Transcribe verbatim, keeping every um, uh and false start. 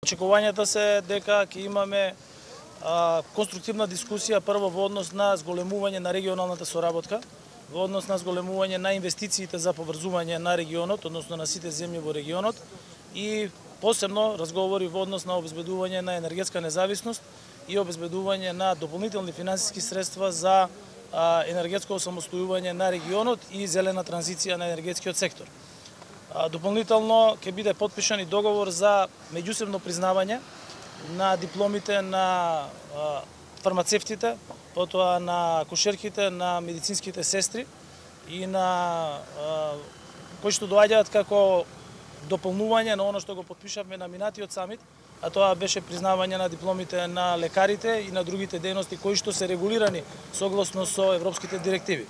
Очекувањата се дека ќе имаме а, конструктивна дискусија прво во однос на зголемување на регионалната соработка, во однос на зголемување на инвестициите за поврзување на регионот, односно на сите земји во регионот и посебно разговори во однос на обезбедување на енергетска независност и обезбедување на дополнителни финансиски средства за а, енергетско осамостојување на регионот и зелена транзиција на енергетскиот сектор. Дополнително ќе биде потпишан и договор за меѓусебно признавање на дипломите на фармацевтите, потоа на акушерките, на медицинските сестри и на кои што доаѓаат како дополнување на оно што го потпишавме на минатиот самит, а тоа беше признавање на дипломите на лекарите и на другите дејности кои што се регулирани согласно со европските директиви.